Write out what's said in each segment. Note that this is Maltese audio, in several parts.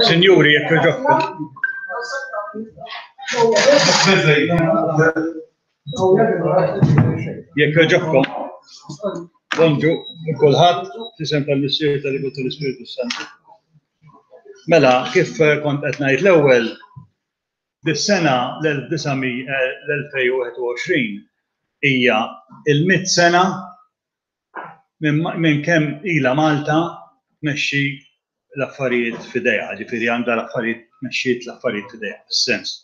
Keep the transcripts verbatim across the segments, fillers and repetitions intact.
Sinjuri, jekk jogħġobkom. Jekk jogħġobkom. Bonġu, kulħadd, f'isem tal-Missier, tal-Iben, tal-Ispirtu Santu. Mela, kif kont qed ngħid l-ewwel, dis-sena l-elf disa' mija wieħed u għoxrin hija il-mitt sena minn kemm ilha Malta tmexxi l-affarijiet f'idejha, ġifieri għandha l-affarijiet, tmexxiet l-affarijiet f'idejha, fis-sens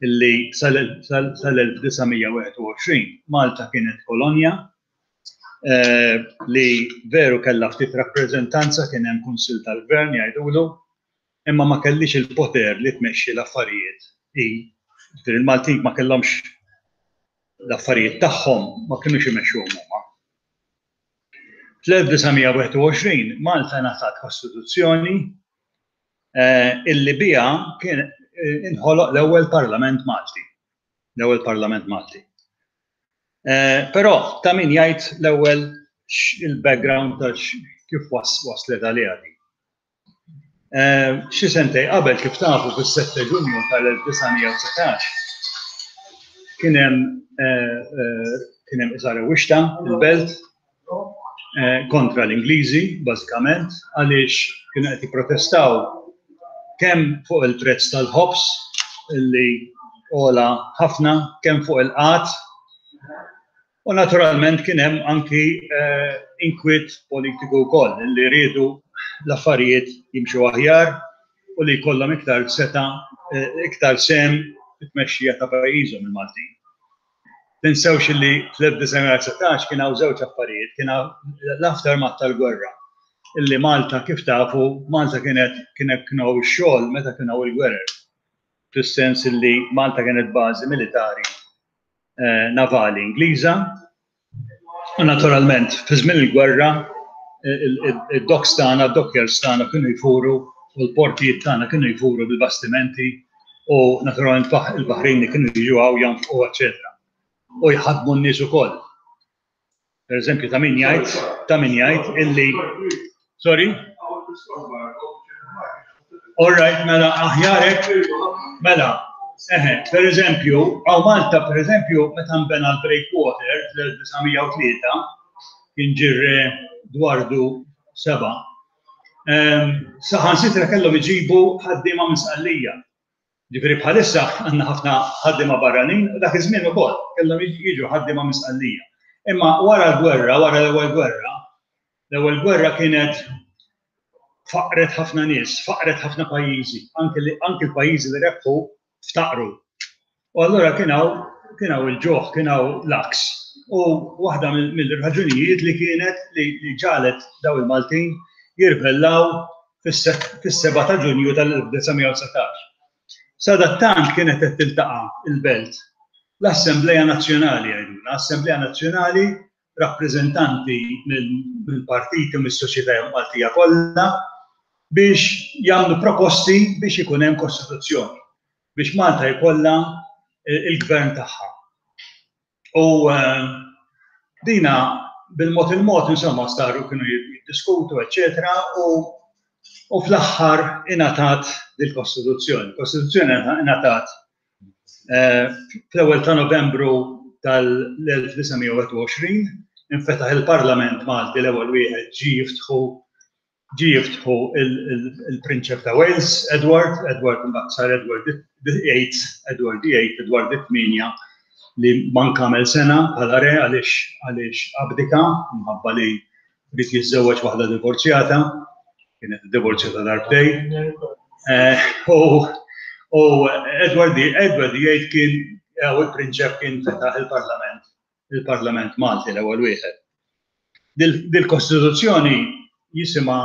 illi sal-elf disa' mija wieħed u għoxrin Malta kienet kolonja eh, li veru kellha ftit rappreżentanza, kien hemm kunsill tal-gvern jgħidulu, imma ma kellix il-poter li tmexxi l-affarijiet. Ġifieri il-Maltin ma kellhomx l-affarijiet tagħhom, ma kinux imexxuhom huma. Fl-elf disa' mija wieħed u għoxrin Malta ngħatat kostituzzjoni eh, illi biha kien eh, inħoloq l-ewwel Parlament Malti. L-ewwel Parlament Malti. Eh, però ta' min jgħid l-ewwel il-background ta' kif waslet għaliha di. Xi sentej qabel, kif tafu, fis-sette Ġunju tal-elf disa' mija u dsatax kien hemm kien hemm iżgħar wixta il-belt Eh, kontra l-Ingliżi, bażikament, għaliex kienu qed jipprotestaw kemm fuq il-prezz tal-ħobż li għola ħafna, kemm fuq il-qgħad, u naturalment kien hemm anki eh, inkwiet politiku wkoll li riedu l-affarijiet jimxu aħjar u li jkollhom iktar setgħa, eh, iktar sehem fit-tmexxija ta' pajjiżhom il-Maltin. Tinsewx li fl-elf disa' mija u dsatax kien hawn żewġ affarijiet, kien hawn l-aftermath tal-gwerra. Illi Malta, kif tafu, Malta kienet kienet kienu ix-xogħol meta kien hawn il-gwerer. Fis-sens illi Malta kienet bażi militari eh, navali Ingliża. U naturalment, fi żmien il-gwerra, id-docks tagħna, id-dockyards tagħna kienu jfuru u l-portijiet tagħna kienu jfuru bil-bastimenti u naturalment il-baħrin kienu jiġu hawn jonfqu, eċetera, u jħadmu n-nies ukoll. Per eżempju, ta' min jgħid, ta' min jgħid illi, sorry? All right, mela aħjarek, mela, eħe, per eżempju, hawn Malta, per eżempju, meta nbena l-Breakwater fl-elf disa' mija u tlieta, kien ġie r-Re Dwardu Seba', saħansitra kellhom iġibu ħaddiema minn Sqallija. Ġifieri bħalissa għandna ħafna ħaddiema barranin, u dak iż-żmien ukoll kellhom jiġu ħaddiema minn Sqallija. Imma wara l-gwerra, wara l-ewwel gwerra, l-ewwel gwerra kienet faqret ħafna nies, faqret ħafna pajjiżi, anke l-pajjiżi li rebħu ftaqru. U allura kien hawn kien hawn il-ġuħ, kien hawn l-għaks. U waħda mill-raġunijiet li kienet li ġagħlet daw il-Maltin jirbellaw fis-seba ta' Ġunju tal-elf disa' mija u dsatax. Sadattant kienet qed tiltaqa' il-belt l-Assembleja Nazzjonali għajduna, Assembleja Nazzjonali, rappreżentanti mill-partiti u mis-soċjetà Maltija kollha biex jagħmlu proposti biex ikun hemm kostituzzjoni, biex Malta jkollha il-gvern tagħha. U eh, dina bil-mod il-mod insomma saru kienu jiddiskutu, eċetera, u u fl-aħħar ingħatat dil-Kostituzzjoni. Kostituzzjoni ingħatat eh, fl-ewwel ta' Novembru tal-elf disa' mija u wieħed u għoxrin, infetaħ il-Parlament Malti, l-ewwel wieħed ġi jiftħu ġi jiftħu il-Prinċep ta' Wales, Edward, Edward imbagħad sar Edward the Eighth, Edward the Eighth, Edward it-Tminja, li manka għamel sena bħala re għaliex għaliex abdika minħabba li ried jiżżewweġ waħda divorzjata, kienet divorzjata darbtej. Eh, u Edward Edward the Eighth kien u il-prinċep kien fetaħ il-Parlament, il-Parlament Malti l-ewwel wieħed. Dil-Kostituzzjoni jisimha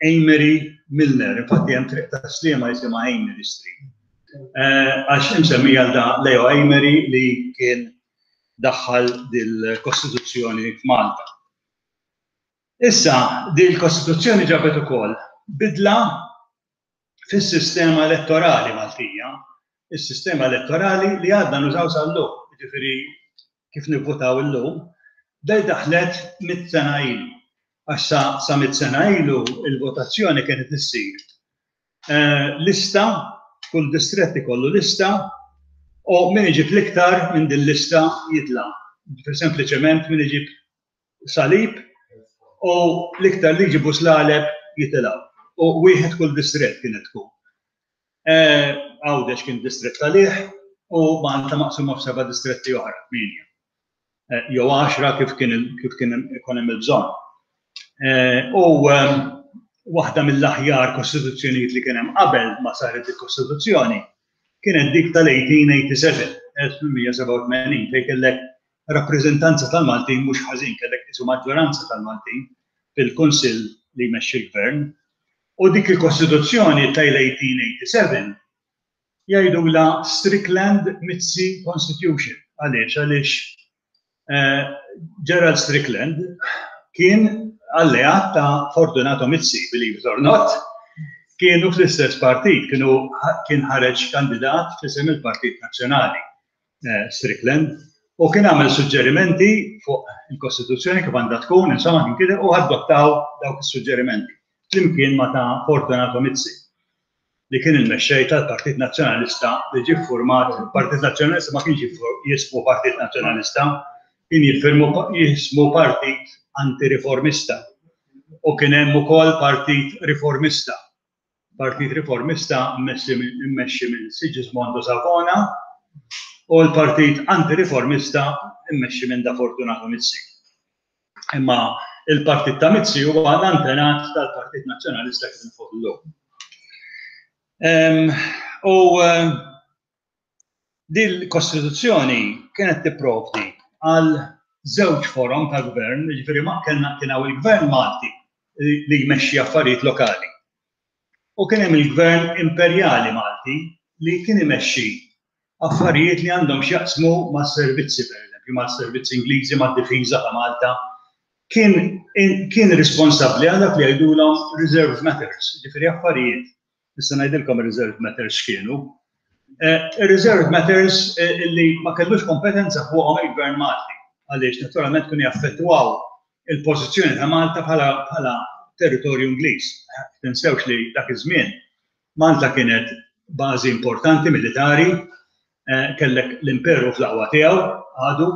Amery Milner, infatti hemm triq ta' Sliema jisimha Amery Street. Eh, għax imsemmija da Leo Amery li kien daħħal dil-Kostituzzjoni f'Malta. Issa, dil-Kostituzzjoni ġabet ukoll bidla fis-sistema elettorali Maltija, is-sistema elettorali li għadna nużaw sal-lum, ġifieri kif nivvutaw illum, dej daħlet mitt sena ilu. Għax sa, sa mitt sena ilu il-votazzjoni kienet issir lista, kull distrett ikollu lista, u min iġib l-iktar minn din lista jitla'. Sempliċement min iġib salib u l-iktar li jġibu slaleb jitilgħu. U wieħed kull distrett kienet tkun. Għawdex kien distrett għalih u Malta maqsuma f'seba' distretti oħra, tmienja. Jew għaxra kif kien kif kien ikun hemm il-bżonn. U waħda mill-aħjar kostituzzjonijiet li kien hemm qabel ma saret il-Kostituzzjoni kienet dik tal-eighteen eighty-seven, elf tmien sebgħa u tmenin, fejn kellek rappreżentanza tal-Maltin mhux ħażin, kellek isu maġġoranza tal-Maltin fil-Kunsill li jmexxi l-Gvern. U dik il-Kostituzzjoni tal-eighteen eighty-seven jgħidulha Strickland Mizzi Constitution. Għaliex? Għaliex Gerald Strickland kien alleat ta' Fortunato Mizzi, believe it or not, kienu fl-istess partit, kienu kien ħareġ kandidat f'isem il-Partit Nazzjonali, Strickland, u kien għamel suġġerimenti fuq il-Kostituzzjoni kif għandha tkun, insomma kien kien u adottaw dawk is-suġġerimenti flimkien ma' ta' Fortunato Mizzi, li kien il-mexxej tal-Partit Nazzjonalista li ġie ffurmat. Il-Partit Nazzjonalista ma kienx jismu Partit Nazzjonalista, kien jiffirmu jismu Partit Antiriformista. U kien hemm ukoll Partit Riformista. Partit Riformista mmexxi minn Sigismondo Savona u l-Partit Antiriformista mmexxi minn da Fortunato Mizzi. Imma il-Partit ta' Mizzi huwa l-antenat tal-Partit Nazzjonalista kif nafuh illum. U dil-Kostituzzjoni kienet tipprovdi għal żewġ forom ta' gvern, jiġifieri ma kellna kien hawn il-Gvern Malti li jmexxi affarijiet lokali. U kien hemm il-Gvern Imperjali Malti li kien imexxi affarijiet li għandhom x'jaqsmu mas-servizzi, pereżempju, mas-servizzi Ingliżi, mad-difiża ta' Malta. Kien, kien responsabbli għal dak li jgħidulhom reserve matters, jiġifieri affarijiet. Issa ngħidilkom reserve matters x'kienu. Reserve matters li ma kellux kompetenza fuqhom il-Gvern Malti, għaliex naturalment kienu jaffettwaw il-pożizzjoni ta' Malta bħala territorju Ingliż. Tinsewx li dak iż-żmien Malta kienet bażi importanti militari, kellek l-imperu fl-aqwa tiegħu għadu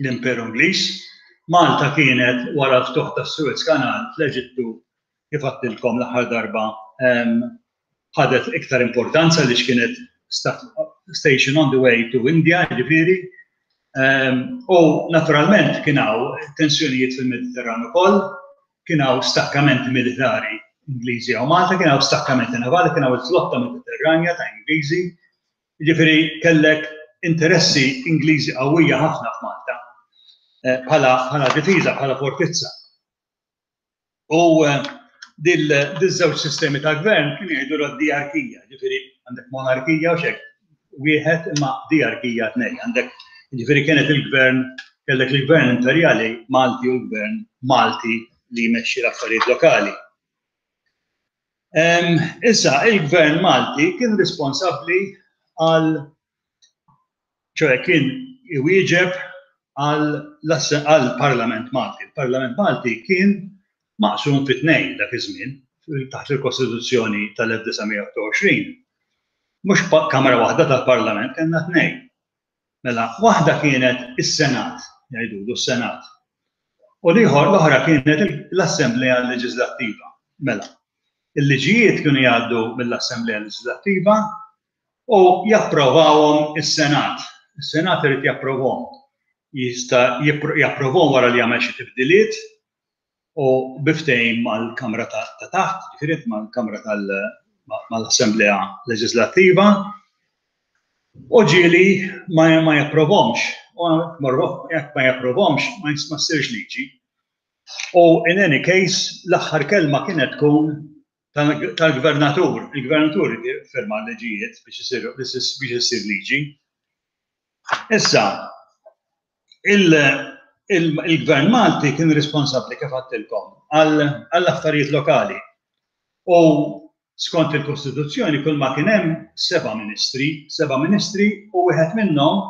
l-Imperu Ingliż. Malta kienet wara l-ftuħ tas-Suez Canal fl-Eġittu, kif għedtilkom l-aħħar darba, ħadet iktar importanza li kienet station on the way to India, ġifieri. U naturalment kien hawn tensjonijiet fil-Mediterran ukoll, kien hawn stakkamenti militari Ingliżi hawn Malta, kien hawn stakkamenti navali, kien hawn il-flotta Mediterranja ta' Ingliżi. Ġifieri kellek interessi Ingliżi qawwija ħafna f'Malta bħala, bħala difiża, bħala fortizza. U dil-żewġ sistemi ta' gvern kienu jgħidu l diarkija, ġifieri għandek monarkija u xek, wieħed imma diarkija tnej, għandek ġifieri kienet il-gvern, kellek il-gvern imperjali Malti u l-gvern Malti li jmexxi l-affarijiet lokali. Issa, il-gvern Malti kien responsabbli għal, ċoħe kien iwieġeb għal-Parlament Malti. Il-Parlament Malti kien maqsum fi tnejn dak iż-żmien, taħt il-Kostituzzjoni tal-elf disa' mija u għoxrin. Mhux kamra waħda tal-Parlament, kellna tnejn. Mela, waħda kienet is-Senat, jgħidulu s-Senat. U l-ieħor l-oħra kienet l-Assemblea Leġislattiva. Mela, il-liġijiet kienu jgħaddu mill-Assemblea Leġislattiva u japprovawhom is-Senat. Is-Senat irid japprovhom. Jista' japprovhom wara li jagħmel xi tibdiliet u biftehim mal-Kamra ta' taħt, ġifieri mal-Kamra mal-Assemblea Leġislattiva, u ġieli ma japprovhomx. U jekk ma japprovhomx, ma ssirx liġi. U in any case, l-aħħar kelma kienet tkun tal-gvernatur. Il-gvernatur firma l-liġijiet biex issir liġi. Issa, il-gvern Malti kien responsabbli kif għedtilkom għall-affarijiet lokali. U skont il-Kostituzzjoni kull ma kien hemm seba' ministri, seba' ministri u wieħed minnhom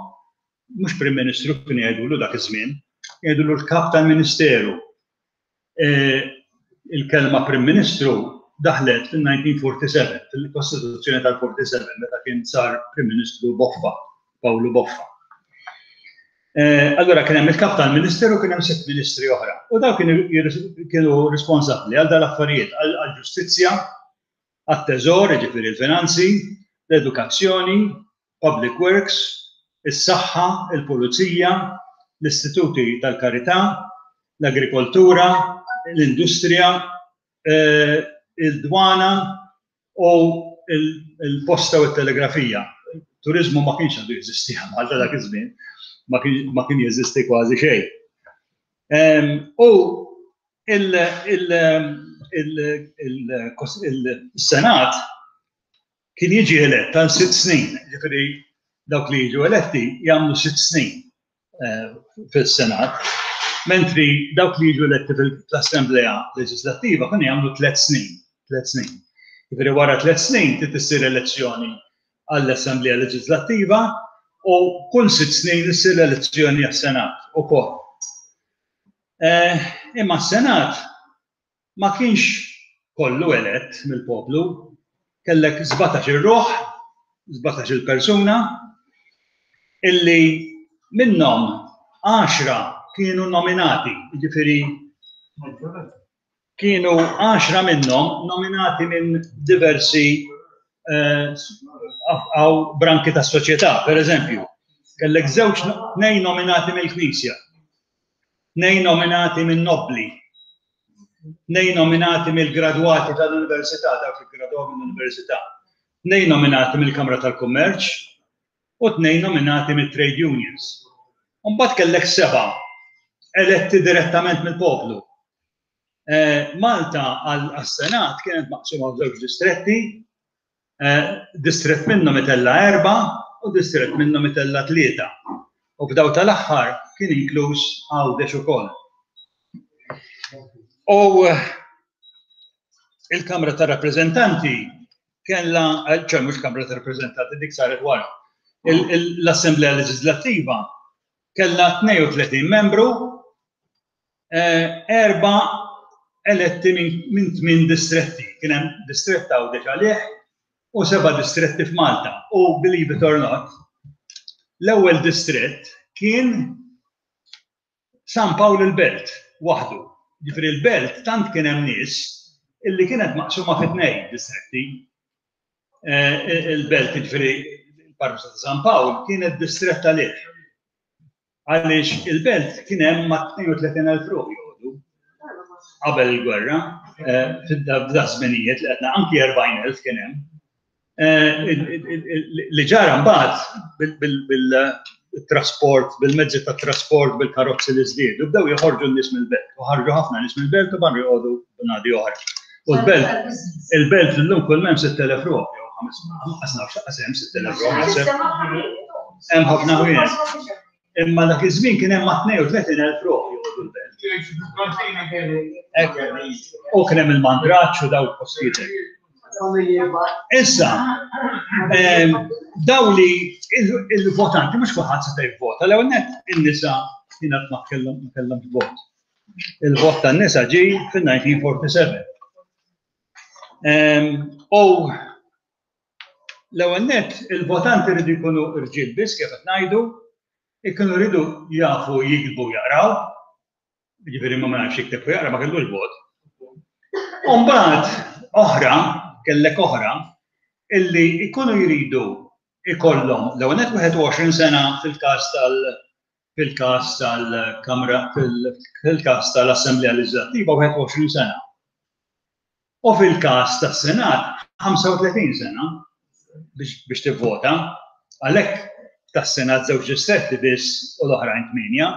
mhux Prim Ministru kien jgħidulu dak iż-żmien, jgħidulu l-kap tal-Ministeru. Il-kelma Prim Ministru daħlet fil-nineteen forty-seven, fil-Kostituzzjoni tal-forty-seven, meta kien sar Prim Ministru Boffa, Pawlu Boffa. Allura kien hemm il-kap tal-Ministeru, kien hemm sitt ministri oħra. U dawk kienu kienu responsabbli għal dal-affarijiet, għall-ġustizzja, għat-teżor, jiġifieri l-finanzi, l-edukazzjoni, public works, is-saħħa, il-pulizija, l-istituti tal-karità, l-agrikoltura, l-industrija, il-dwana u il-posta u t-telegrafija. Turizmu ma kienx għadu jeżisti Malta dak iż-żmien, ma kien jeżisti kważi xejn. U il-Senat kien jiġi elett għal sitt snin, ġifieri dawk li jiġu eletti jagħmlu sitt snin fil-Senat, mentri dawk li jiġu eletti fl-Assemblea Leġislattiva kienu jagħmlu tliet snin, tliet snin. Ġifieri wara tliet snin trid issir elezzjoni għall-Assemblea Leġislattiva u kull sitt snin issir elezzjoni għas-Senat ukoll. Imma s-Senat ma kienx kollu elett mill-poplu, kellek sbatax-il ruħ, sbatax-il persuna, illi minnhom għaxra kienu nominati, jiġifieri kienu għaxra minnhom nominati minn diversi għaw branki tas soċjetà, per eżempju, kellek żewġ tnejn nominati mill-Knisja, tnejn nominati minn nobli, tnejn nominati mill-gradwati tal-Università, dawk li gradwaw mill-Università, tnejn nominati mill-Kamra tal-Kummerċ u tnejn nominati mill-Trade Unions. Mbagħad kellek seba' eletti direttament mill-poplu. Malta għas-Senat kienet maqsuma f'żewġ distretti, distrett minnhom itella' erba' u distrett minnhom itella' tlieta. U f'daw tal-aħħar kien inkluż Għawdex ukoll. U il-Kamra tar-Rappreżentanti kellha, ċe mhux Kamra tar-Rappreżentanti, dik saret wara. L-Assemblea Leġislattiva kellha tnejn u tletin membru, erba' eletti minn tmien distretti. Kien hemm distrett Għawdex għalih u seba' distretti f'Malta. U believe it or not, l-ewwel distrett kien San Pawl il-Belt waħdu. Ġifieri l-Belt tant kien hemm nies illi kienet maqsuma fi tnejn distretti. Il-Belt, ġifieri il-parroċċa ta' San Pawl, kienet distrett għalih. Għaliex il-Belt kien hemm ma' tnejn u tletin elf ruħ joqogħdu qabel il-gwerra, f'da żminijiet li qedna anki erbgħin elf kien hemm. Li ġara mbagħad bil-trasport, bil-mezzi tat trasport, bil-karozzi li żdiedu, bdew joħorġu n-nies mill-belt, u ħarġu ħafna nies mill-belt u barru joqogħdu b'nadi oħra. U l-belt, il-belt illum kull m'hemm sitt elef ruħ, jew ħames, lanqas nafx lanqas hemm sitt elef ruħ, naħseb. Hemm ħafna ħwienet. Imma dak iż-żmien kien hemm ma' tnejn u tletin elf ruħ joqogħdu l-belt. U kien hemm il-mandraġġ u daw il-postijiet. Issa, daw li il-votanti, mhux kulħadd seta' jivvota, l-ewwel nett in-nisa kienet ma kellhom ma kellhomx vot. Il-vot tan-nisa ġie fin-nineteen forty-seven. U l-ewwel nett il-votanti rridu jkunu rġiel biss kif qed ngħidu, ikunu rridu jafu jiktbu jaqraw, jiġifieri ma nafx jikteb u jaqra ma kellux vot. U mbagħad oħra, kellek oħra, illi jkunu jridu ikollhom l-ewwel nett wieħed u għoxrin sena fil-każ tal fil-każ tal-Kamra, fil-każ tal-Assemblea Leġislattiva wieħed u għoxrin sena. U fil-każ tas-Senat ħamsa u tletin sena biex, biex tivvota, għalhekk tas-Senat żewġ distretti biss u l-oħrajn tmienja,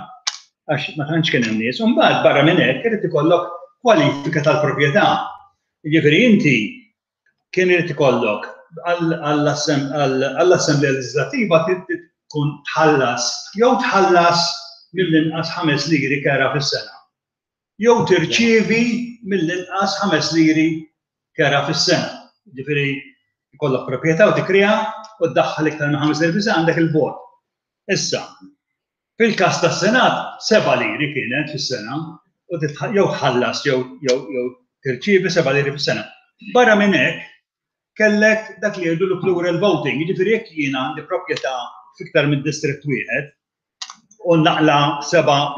għax ma tantx kien hemm nies. U mbagħad barra minn hekk irid ikollok kwalifika tal-proprjetà. Jiġifieri inti kien irid ikollok għall-Assemblea Leġislattiva tkun tħallas jew tħallas mill-inqas ħames liri kera fis-sena. Jew tirċievi mill-inqas ħames liri kera fis-sena. Jiġifieri ikollok proprjetà u tikrija u ddaħħal iktar minn ħames liri fis-sena għandek il-vot. Issa, fil-każ tas-Senat seba' liri kienet fis-sena u jew tħallas jew, jew, jew tirċievi seba' liri fis-sena. Barra minn hekk, kellek dak li jgħidu plural voting, jiġifieri jekk jiena għandi proprjetà fiktar minn distritt wieħed u naqla seba'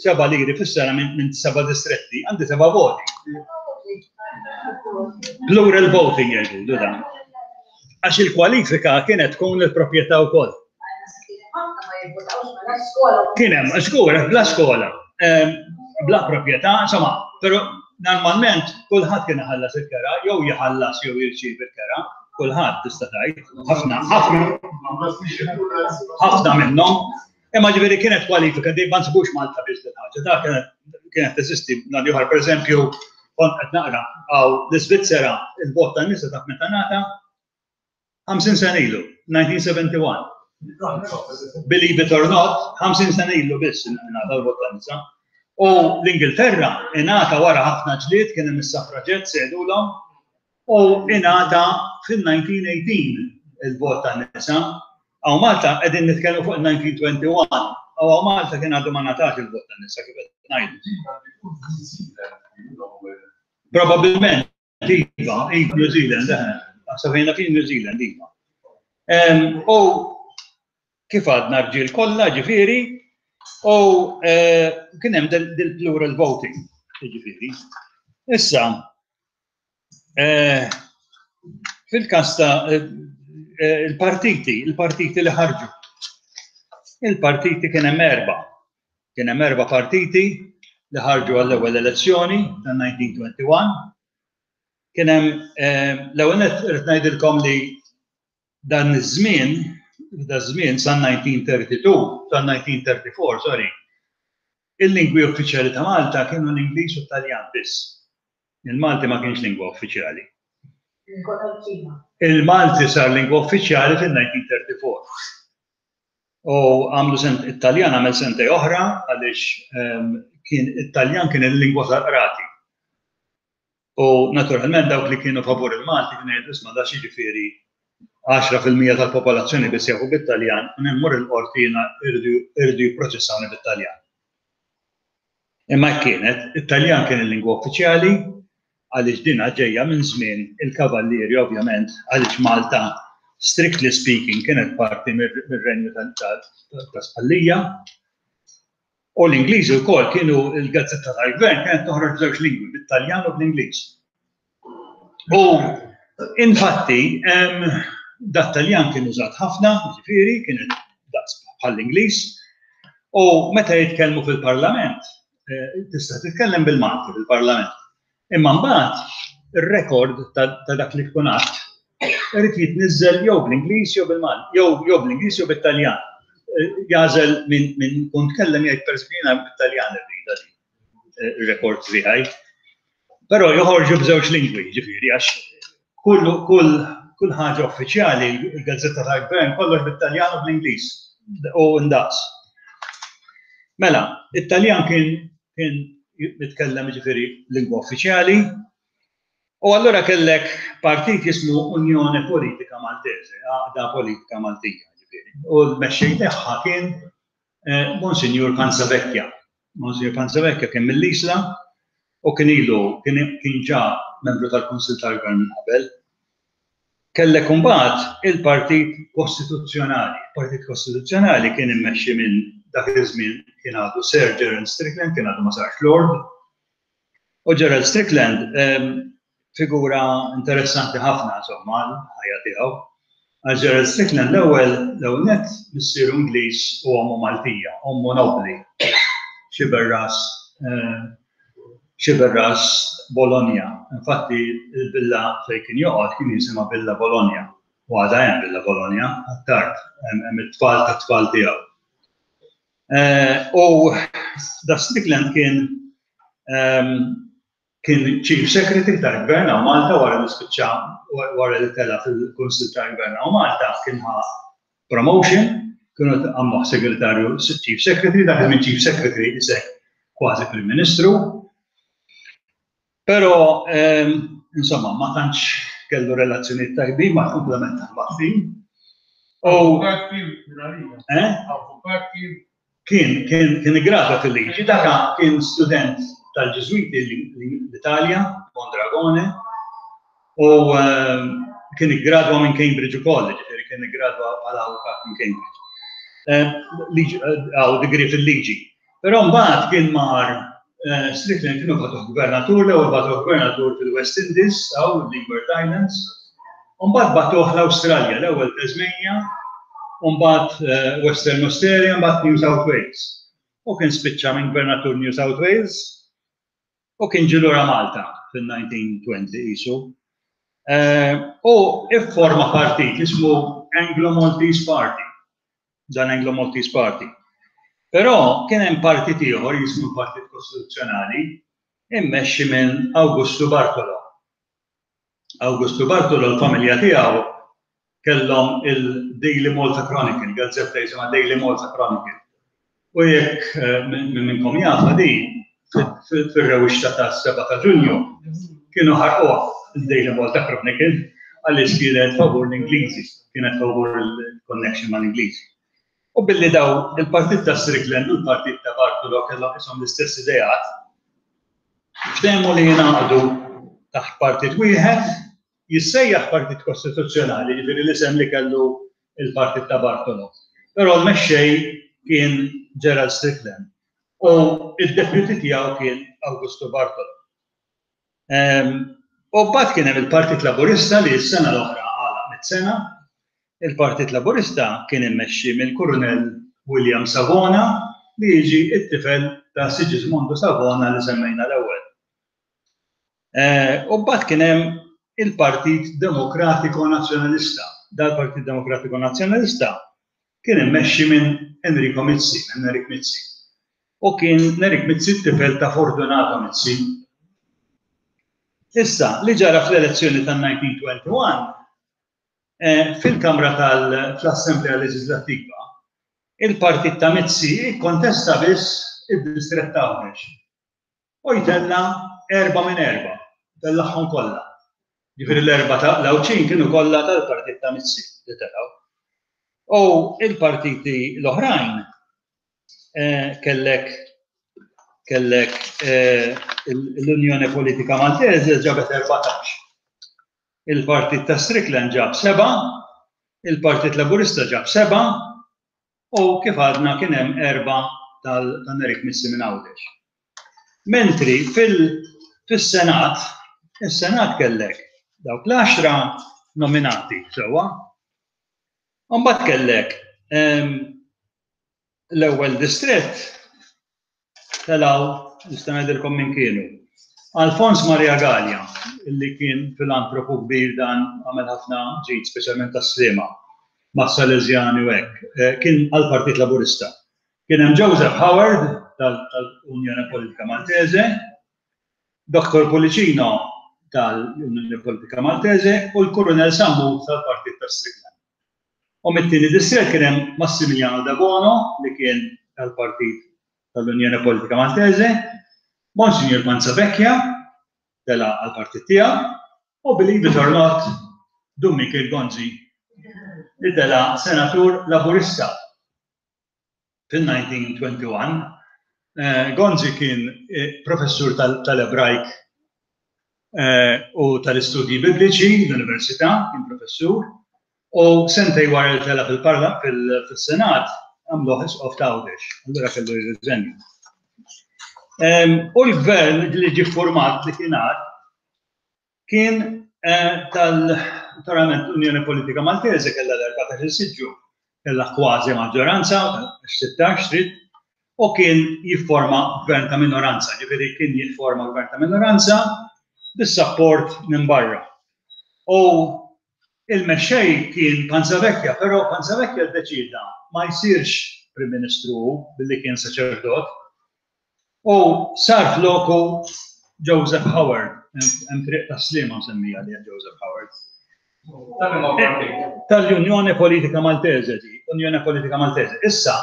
seba' liri fis-sena minn seba' distretti, għandi seba' voti. Plural voting jgħidu dan. Għax il-kwalifika kienet tkun il-proprjetà wkoll. Kien hemm, żgur, bla skola, bla proprjetà, insomma, però normalment kulħadd kien iħallas il-kera, jew jħallas jew jirċievi il-kera, kulħadd tista' tgħid, ħafna, ħafna, ħafna minnhom. Imma ġifieri kienet kwalifika di ma nsibux Malta biss din ħaġa, ta' kienet kienet teżisti nhar ieħor, pereżempju, kont qed naqra għaw l-Iżvizzera il-vot tan-nisa taf meta ngħata ħamsin sena ilu, nineteen seventy-one. Believe it or not, ħamsin sena ilu biss ingħata l-vot tan-nisa. U l-Ingilterra ingħata wara ħafna ġlied, kien hemm is-suffraġett sejħulhom, u ingħata fil-nineteen eighteen il-vot tan-nisa. Għaw Malta qegħdin nitkellmu fuq il-nineteen twenty-one, għaw Malta kien għadu ma ngħatax il-vot tan-nisa kif qed ngħidu. Probabilment, iva, iva, New Zealand, eħe, naħseb jiena kien New Zealand, iva. Em, u kif għadna rġiel kollha, ġifieri, u, eh, kien hemm dil-plural voting, ġifieri. Issa, eh, fil-każ ta', eh, eh, il-partiti, il-partiti li ħarġu. Il-partiti kien hemm erba'. Kien hemm erba' partiti li ħarġu għall-ewwel elezzjoni ta' nineteen twenty-one. Kien hemm, eh, l-ewwel nett irid ngħidilkom li dan iż-żmien, da żmien sa nineteen thirty-two, sa nineteen thirty-four, sorry, il-lingwi uffiċjali ta' Malta kienu l-Ingliż u t-Taljan biss. Il-Malti ma kienx lingwa uffiċjali. Il-Malti sar lingwa uffiċjali fil-nineteen thirty-four. U għamlu sent, it-Taljan għamel sentej oħra għaliex, ehm, kien it-Taljan kien il-lingwa tal-qrati. U naturalment dawk li kienu favur il-Malti kienu jgħidu isma' da xi ġifieri għaxra fil-mija tal-popolazzjoni biss jafu bit-Taljan u immur il-qorti jiena irridu jipproċessawni bit-Taljan. Imma kienet, it-Taljan kien il-lingwa uffiċjali għaliex dina ġejja minn żmien il-Kavallieri ovvjament għaliex Malta strictly speaking kienet parti mir-renju ta' Spallija. U l-Ingliżi wkoll kienu l-gazzetta tal-gvern kienet toħroġ żewġ lingwi, bit-Taljan u bl-Ingliż. U infatti, em, dat-Taljan kien użat ħafna, ġifieri, kienet daqs bħall-Ingliż, u meta jitkellmu fil-Parlament, eh, tista' titkellem bil-Malti fil-Parlament. Imma mbagħad ir-rekord ta', ta' dak li tkun għadt irid jitniżżel jew bl-Ingliż jew bil-Malti, jew, jew bl-Ingliż jew bit-Taljan. Eh, jagħżel minn, minn kun tkellem jgħid pereżempju jiena bit-Taljan irrida di, eh, ir-rekord tiegħi. Però joħorġu b'żewġ lingwi, ġifieri, għax kull, kull, kull ħaġa uffiċjali, il-gazzetta tal-gvern, kollox bit-Taljan u bl-Ingliż u ndaqs. Mela, it-Taljan kien, kien jitkellem ġifieri lingwa uffiċjali, u allura kellek partit jismu Unjoni Politika Maltese, Għaqda Politika Maltija, ġifieri. U l-mexxej tagħha kien, eh, Monsinjur Panzavecchia. Monsinjur Panzavecchia kien mill-Isla u kien ilu, kien, kien ġa membru tal-Kunsill tal-Gvern minn qabel. Kellek imbagħad il-Partit Kostituzzjonali. Il-Partit Kostituzzjonali kien immexxi minn dak iż-żmien kien għadu Sir Gerald Strickland, kien għadu ma sarx Lord. U Gerald Strickland, ehm, figura interessanti ħafna, insomma, l-ħajja tiegħu. Għax Gerald Strickland l-ewwel, l-ewwel nett missieru Ingliż u ommu Maltija, ommu nobli, Sciberras, eh, Sciberras Bologna. Infatti il-villa fejn kien joqgħod kien jisimha Villa Bologna. U għadha hemm Villa Bologna, għat-tard, hemm it-tfal tat-tfal tiegħu. Eh, u da Strickland kien, ehm, kien Chief Secretary tal-Gvern hawn Malta wara li spiċċa, wara li tela fil-Kunsill tal-Gvern hawn Malta, kien ħa promotion, kienu għamluh segretarju Chief Secretary, dak minn Chief Secretary isek kważi Prim Ministru. Però, ehm, insomma, ma tantx kellu relazzjonijiet tajbin ma' komplement tal-Maltin. U Avukat kien minn Eh? Avukat kien. Kien, kien, kien iggradwa fil-liġi, daka kien student tal-Ġiżwiti l-Italja, Mondragone, U kien iggradwa minn Cambridge ukoll, ġifieri kien iggradwa bħala avukat minn Cambridge. Għaw degree fil-liġi. Però mbagħad kien mar Strickland kienu bagħtuh gvernatur, l-ewwel bagħtuh gvernatur fil-West Indies, aw Leeward Islands, u mbagħad bagħtuh l-Awstralja, l-ewwel Tasmania, u mbagħad Western Australia, mbagħad New South Wales. U kien spiċċa minn gvernatur New South Wales u kien ġie lura Malta fil-nineteen twenty qisu. U ifforma partit jismu Anglo-Maltese Party, dan Anglo-Maltese Party. Però kien hemm partit ieħor jismu Partit Kostituzzjonali immexxi minn Augusto Bartolo. Augusto Bartolo l-familja tiegħu kellhom il-Daily Malta Chronicle, gazzetta jisimha Daily Malta Chronicle. U jekk minn minnkom jafa din, fir-rewwixta tas-seba' ta' Ġunju kienu ħarquha il-Daily Malta Chronicle għaliex kienet favur l-Ingliżi, kienet favur il-connection mal-Ingliżi. U billi daw il-partit ta' Strickland u l-partit ta' Bartolo kellhom ishom l-istess ideat, ftehmu li jingħaqdu taħt partit wieħed, jissejjaħ Partit Kostituzzjonali, ġifieri l-isem li kellu il-partit ta' Bartolo. Però l-mexxej kien Gerald Strickland u id-deputy tiegħu kien Augusto Bartolo. U mbagħad kien hemm il-Partit Laburista li s-sena l-oħra għalaq mit-sena. Il-Partit Laburista kien immexxi mill-Kurunell William Savona li jiġi t-tifel ta' Sigismondo Savona li semmejna l-ewwel. U mbagħad kien hemm il-Partit Demokratiko Nazzjonalista. Dal-Partit Demokratiko Nazzjonalista kien immexxi minn Enrico Mizzi, minn Nerik Mizzi. U kien Nerik Mizzi t-tifel ta' Fortunato Mizzi. Issa, li ġara fl-elezzjoni tan-nineteen twenty-one, fil-Kamra tal-Assemblea Leġislattiva, il-Partit ta' Mizzi kontesta biss id-distrett ta' Għawdex. U jtella erba' minn erba', tellagħhom kollha. Ġifieri l-erba' ta' l-Għawdxin kienu kollha tal-Partit ta' Mizzi li telgħu. U il-partiti l-oħrajn kellek kellek l-Unjoni Politika Maltese ġabet erbatax. Il-Partit ta' Strickland ġab seba', il-Partit Laburista ġab seba', u kif għadna kien hemm erba' tal-Nerik Mizzi minn Għawdex. Mentri fil-Senat, il-Senat kellek dawk l-għaxra nominati sewwa. Mbagħad kellek l-ewwel distrett telgħu, nista' ngħidilkom min kienu. Alfons Maria Galea, illi kien filantropu kbir dan għamel ħafna ġid, speċjalment tas-Sliema, mas-Salesjani u hekk, kien għall-Partit Laburista. Kien hemm Joseph Howard tal-Unjoni Politika Maltese, Doktor Pullicino tal-Unjoni Politika Maltese u l-Kurunell Sammut tal-Partit ta' Strickland. U mit-tieni distrett kien hemm Massimiliano Debono li kien tal-Partit tal-Unjoni Politika Maltese, Monsignor Panzavecchia tela għall-partit tiegħu, u believe it or not, Dun Mikiel Gonzi li tela senatur Laburista fil-nineteen twenty-one. Gonzi kien professur tal-Ebrajk u tal-istudji bibliċi l-Università, kien professur, u sentej wara li tela fil-Parlament fil-Senat għamluh isqof ta' Għawdex, allura kellu jirriżenja. U l-gvern li ġie format li kien għad kien tal-naturalment Unjoni Politika Maltese kellha l-erbatax-il siġġu, kellha kważi maġġoranza, sittax trid, u kien jifforma gvern ta' minoranza, ġifieri kien jifforma gvern ta' minoranza bis-sapport minn barra. U il-mexxej kien Panzavecchia, però Panzavecchia ddeċida ma jsirx Prim Ministru billi kien saċerdot, u sar floku Joseph Howard, hemm triq ta' Sliema msemmija li Joseph Howard. Tal-Unjoni Politika Maltese, di, Unjoni Politika Maltese. Issa,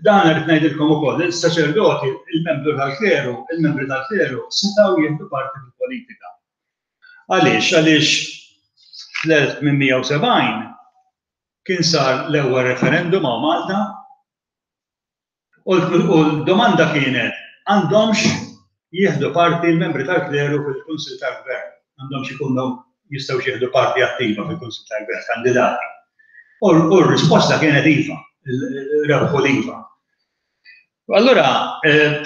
dan rrid ngħidilkom ukoll, il-saċerdoti, il-membru tal-kleru, il-membri tal-kleru setgħu jieħdu parti fil-politika. Għaliex? Għaliex fl-elf tmien mija u sebgħin kien sar l-ewwel referendum hawn Malta u l-domanda kienet għandhomx jieħdu parti l-membri tal-kleru fil-Kunsill tal-Gvern, għandhomx ikunu jistgħu jieħdu parti attiva fil-Kunsill tal-Gvern, kandidati. U r-risposta kienet iva, rebħu l-iva. Allura,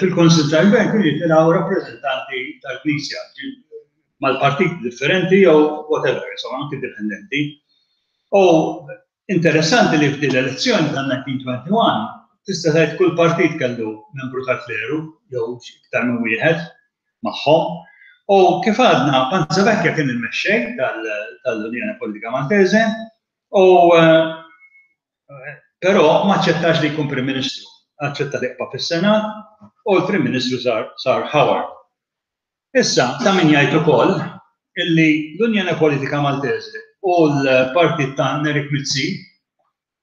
fil-Kunsill tal-Gvern kienu jitilgħu rappreżentanti tal-Knisja mal-partiti differenti jew whatever, insomma, anki indipendenti. U interessanti li f'din l-elezzjoni tal-nineteen twenty-one tista' tgħid kull partit kellu membru tal-kleru jew iktar minn wieħed magħhom. U kif għadna, Panzavecchia kien il-mexxej tal-Unjoni Politika Maltese, u però ma aċċettax li jkun Prim Ministru. Aċċetta li jibqa' fis-Senat u l-Prim Ministru sar Howard. Issa, ta' min jgħid ukoll illi l-Unjoni Politika Maltese u l-partit ta' Nerik Mizzi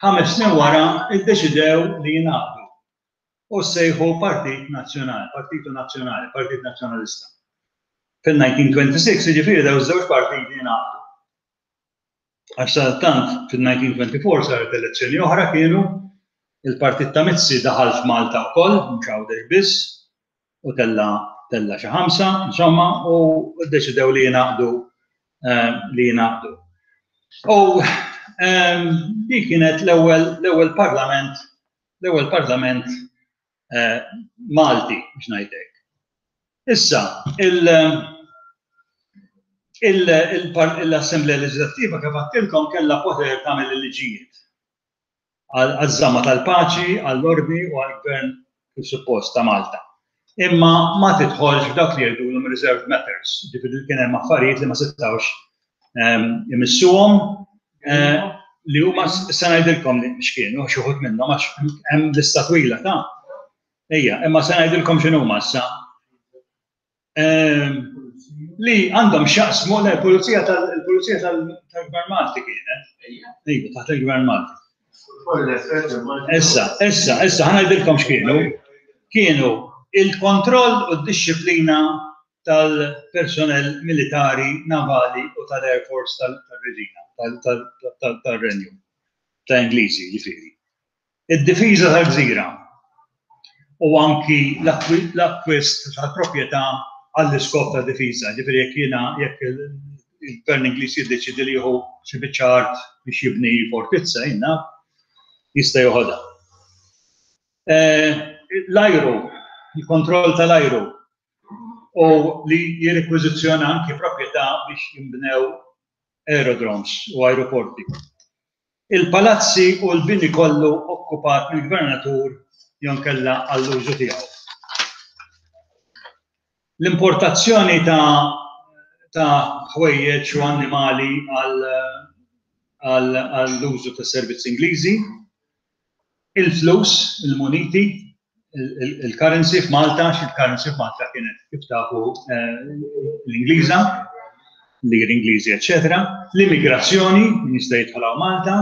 ħames snin wara iddeċidew li jingħaqdu u sejħu Partit Nazzjonali, Partitu Nazzjonali, Partit Nazzjonalista. Fil-nineteen twenty-six, jiġifieri daw iż-żewġ partiti jingħaqdu. Għax sadattant fil-nineteen twenty-four saret elezzjoni oħra, kienu il-partit ta' Mizzi daħal f'Malta wkoll, mhux Għawdex biss, u tella tella xi ħamsa, insomma, u ddeċidew li jingħaqdu, eh, li jingħaqdu. U, ehm, dik kienet l-ewwel, l-ewwel parlament, l-ewwel parlament, eh, Malti, biex ngħidlek. Issa, il, il, il, l-Assemblea Leġislattiva kif għedtilkom kellha poter tagħmel il-liġijiet għaż-żamma tal-paċi, għall-ordni u għall-gvern kif suppost ta' Malta. Imma ma tidħolx f'dak li jgħidulhom reserved matters, ġifieri kien hemm affarijiet li ma setgħux, ehm, imissuhom, eh, li huma se ngħidilkom li x'kienu xi wħud minnhom għax hemm lista twila ta' Ejja, imma se ngħidilkom x'inhuma issa. Ehm, li għandhom x'jaqsmu, le, il-pulizija tal-, il-pulizija tal-, tal-Gvern Malti kienet. Ejja, taħt il-Gvern Malti. Issa, issa, issa, ħa ngħidilkom x'kienu. Kienu il-kontroll u d-disciplina tal-personel militari, navali u tal-Air Force tal-Reġina, tal-Renju, ta' Ingliżi, ġifieri. Id-difiża tal-gżira u anki l-akkwist tal-proprjetà għall-iskop ta' difiża, ġifieri jekk jiena, jekk il-Gvern Ingliż jiddeċidi li jieħu xi biċċa art biex jibni fortizza, jiena jista' joħodha. Eh, l-ajru, il-kontroll tal-ajru u li jirrekwiżizzjona anki proprjetà biex jinbnew aerodromes u aeroporti. Il-palazzi u l-bini kollu okkupat mill-gvernatur jew inkella għall-użu tiegħu. L-importazzjoni ta', ta' ħwejjeġ u annimali għal, għal, għall-użu ta' servizzi Ingliżi, il-flus, il-muniti, il-, il-, il-currency f'Malta, għax il-currency f'Malta kienet kif tafu, eh, l-Ingliża, l-liri Ingliżi, eċċetera, l-immigrazzjoni, min jista' jidħol hawn Malta,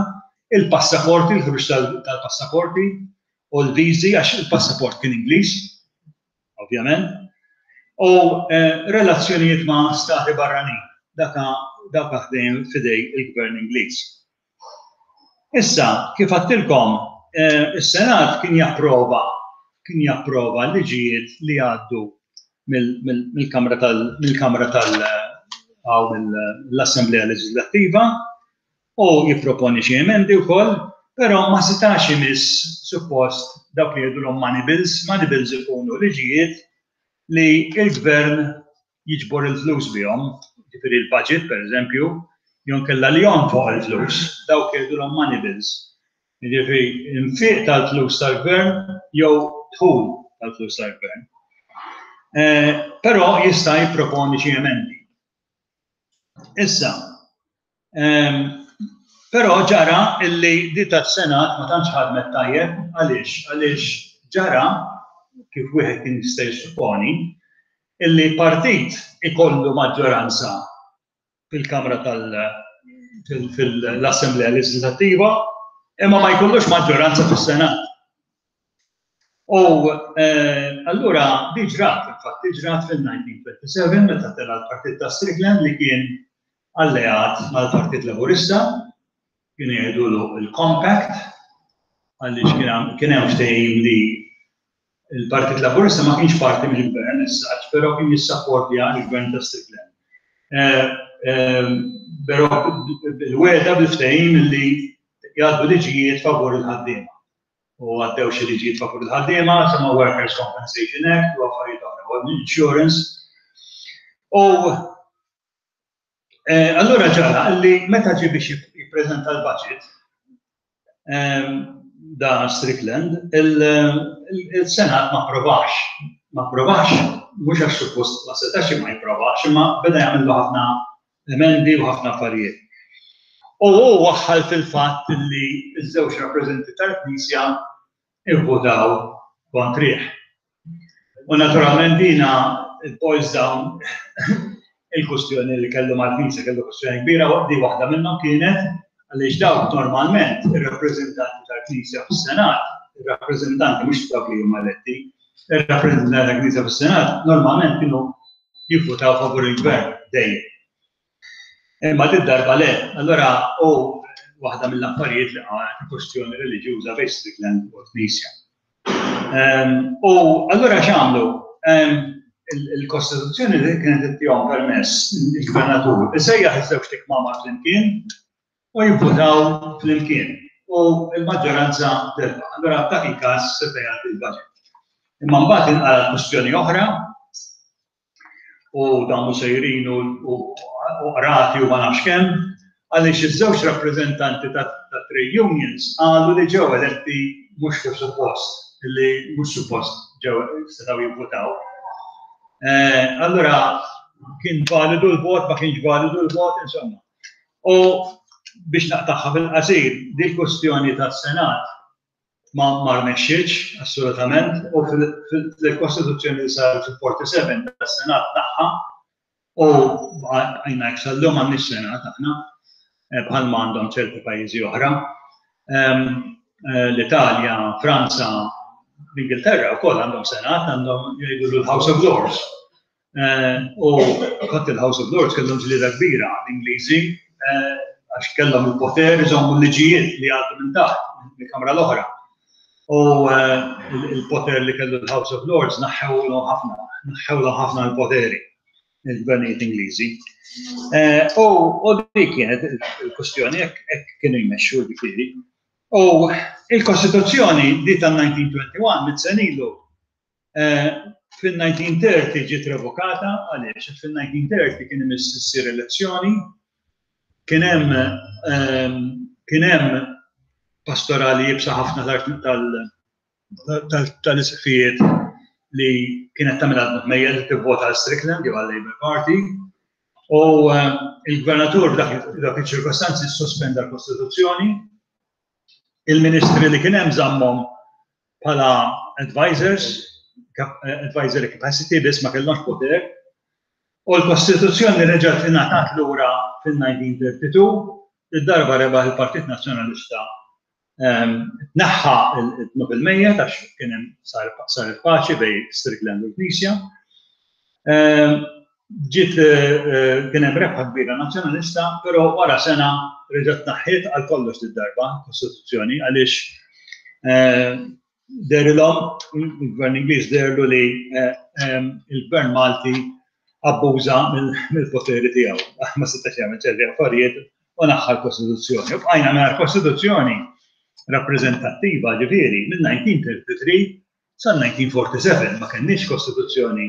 il-passaporti, il-ħruġ tal-, tal-passaporti u l-viżi, għax il-passaport kien Ingliż, ovvjament, u, eh, relazzjonijiet ma' stati barranin, daka, daka ħdejn fidej il-Gvern Ingliż. Issa, kif għedtilkom, eh, is-Senat kien japprova, kien japprova liġijiet li għaddu mill-, mill-, mill-Kamra tal-, mill-Kamra tal-, għaw mill-Assemblea Leġislattiva u jipproponi xi emendi wkoll, però ma setax imiss suppost dawk li jgħidulhom money bills. Money bills ikunu liġijiet li l-gvern jiġbor il-flus bihom, ġifieri il-budget per eżempju, jew inkella li jonfoq il-flus, dawk jgħidulhom money bills. Jiġifieri infiq tal-flus tal-gvern jew dħul tal-flus tal-gvern. Eh, però jista' jipproponi xi emendi. Issa, ehm, però ġara illi di tas-Senat ma tantx ħadmet tajjeb, għaliex? Għaliex ġara, kif wieħed kien jista' jissupponi, illi partit ikollu maġġoranza fil-Kamra tal-, fil-, fil-Assemblea Leġislattiva, imma ma jkollux maġġoranza fis-Senat. U, eh, allura di ġrat, infatti ġrat fil-nineteen twenty-seven meta tela l-Partit ta' Strickland li kien alleat mal-Partit Laburista, kienu jgħidulu il-Compact, għaliex kien hemm, kien hemm ftehim li il-Partit Laburista ma kienx parti mill-gvern issa, però kien jissapportja l-gvern ta' Strickland. Eh, Però bil-wegħda, bil-ftehim li jgħaddu liġijiet favur il-ħaddiema. U għaddew xi liġijiet favur il-ħaddiema, sama Workers' Compensation Act u affarijiet oħra, u insurance. U allura ġara li meta ġie biex jippreżenta l-budget, da Strickland, il-Senat ma approvax. Ma approvax, mhux għax suppost ma setax ma jipprovax, imma beda jagħmlu ħafna emendi u ħafna affarijiet. U hu waħħal fil-fatt li ż-żewġ rappreżentanti tal-Knisja ivvutaw kontrih. U naturalment dina it boils down il-kustjoni li kellu mal-Knisja, kellu kustjoni kbira, di waħda minnhom kienet għaliex dawk normalment ir-rappreżentanti tal-Knisja fis-Senat, ir-rappreżentanti, mhux dawk li huma eletti, ir-rappreżentanti tal-Knisja fis-Senat normalment kienu jivvutaw favur il-gvern dejjem. Imma din darba le, allora u waħda mill-affarijiet li għalet kwestjoni reliġjuża bejn Strickland u l-Knisja. U allura x'għamlu? Il-Kostituzzjoni li kienet ittihom permess il-gvernatur isejjaħ iż-żewġ kmamar flimkien u jivvutaw flimkien u l-maġġoranza terba'. Allura f'dak il-każ seta' jgħaddi l-budget. Imma mbagħad inqalgħet kwestjoni oħra u dawn sejrin u qrati u ma nafx kemm, għaliex iż-żewġ rappreżentanti ta' trade unions qalu li ġew eletti mhux kif suppost, li mhux suppost ġew setgħu jivvutaw. Allura kien validu l-vot, ma kienx validu l-vot, insomma. U biex naqtagħha fil-qasir, di kwestjoni tas-Senat ma ma rnexxietx assolutament u fil-Kostituzzjoni li saret fil-erbgħa u erbgħin tas-Senat tagħha u għajna sal-lum m'għandniex Senat aħna, bħalma għandhom ċerti pajjiżi oħra. L-Italja, Franza, l-Ingilterra wkoll għandhom Senat, għandhom jgħidu l-House of Lords. U kont il-House of Lords kellhom ġlieda kbira l-Ingliżi għax kellhom il-poter iżommu l-liġijiet li għaddu minn taħt, mill-Kamra l-oħra. U il-poter li kellu l-House of Lords naħħewlu ħafna, naħħewlu ħafna l-poteri il-gvernijiet Ingliżi. U dik kienet il-kwestjoni, hekk kienu jmexxu ġifieri. U il-Kostituzzjoni di tal-elf disa' mija u wieħed u għoxrin, mitt sena ilu, fil-elf disa' mija u tletin ġiet revokata. Għaliex? Fil-elf disa' mija u tletin kien imiss issir elezzjoni, kien hemm kien hemm pastorali iebsa ħafna tal-isqfijiet li kienet tagħmel mejjel li tivvota għal Strickland jew għal Labour Party. U il-gvernatur dak iċ-ċirkostanzi sospenda l-Kostituzzjoni, il-ministri li kien hemm żammhom bħala advisors, advisory capacity biss, ma kellhomx poter, u l-Kostituzzjoni reġgħet ingħatat lura fil-elf disa' mija u tnejn u tletin, id-darba rebaħ il-Partit Nazzjonalista, tneħħa id-dnub il-mejjet għax kien hemm sar il-paċi bejn Strickland u l-Knisja. Ġiet kien hemm rebħa kbira nazzjonalista, però wara sena reġgħet tneħħiet għal kollox id-darba Kostituzzjoni għaliex dehrilhom, il-Gvern Ingliż deherlu li il-Gvern Malti abbuża mill-poteri tiegħu. Ma setax jagħmel ċerti affarijiet u neħħa l-Kostituzzjoni. U bqajna mingħajr Kostituzzjoni rappreżentattiva, ġifieri mill-elf disa' mija u tlieta u tletin sal-elf disa' mija u erbgħa u erbgħin ma kenniex kostituzzjoni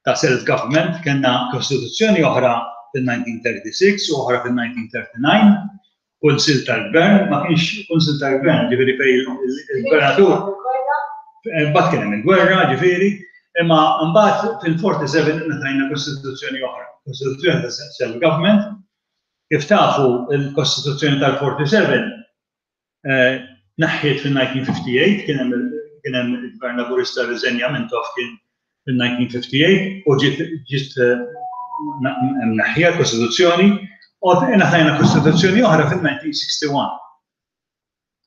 ta' self-government, kellna kostituzzjoni oħra fil-elf disa' mija u tlieta u tletin u oħra fil-elf disa' mija u tlieta u tletin, kunsil tal-gvern, ma kienx kunsil tal-gvern, ġifieri fej il-gvernatur, mbagħad kien hemm il-gwerra, ġifieri, imma mbagħad fil-erbgħa u erbgħin ngħatajna kostituzzjoni oħra, kostituzzjoni ta' self-government. Kif tafu, il-kostituzzjoni tal-erbgħa u erbgħin tneħħiet fil-elf disa' mija u tmienja u ħamsin, kien hemm il-Gvern Laburista rriżenja, Mintoff kien fil-elf disa' mija u tmienja u ħamsin u ġiet ġiet mneħħija l-Kostituzzjoni u ngħatajna Kostituzzjoni oħra fil-elf disa' mija u wieħed u sittin.